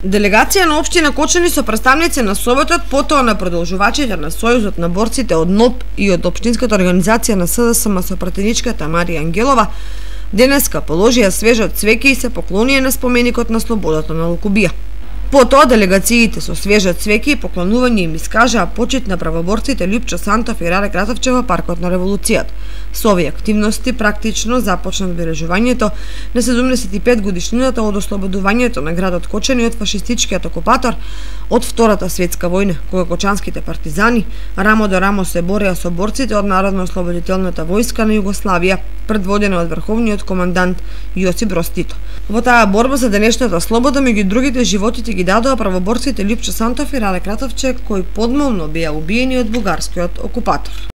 Делегација на општина Кочани со представници на Советот, потоа на продолжувачите на Сојузот на борците од НОБ и од општинската организација на СДСМ со пратеничката Марија Ангелова, денеска положија свежо цвеќе и се поклонија на споменикот на слободата на Лукубија. Потоа делегациите со свежо цвеќе и поклонување им искажаа почит на правоборците Лјупчо Сантов и Раде Кратовче во Паркот на Револуцијата. Со овие активности практично започна одбележувањето на 75 годишнината од ослободувањето на градот Кочани од фашистичкиот окупатор од Втората светска војна, кога кочанските партизани рамо до рамо се бореа со борците од Народно-ослободителната војска на Југославија, предводена од врховниот командант Јосип Броз Тито. Во таа борба за денешната слобода меѓу другите животите ги дадоа правоборците Лјупчо Сантов и Раде Кратовче, кои подмолно беа убиени од бугарскиот окупатор.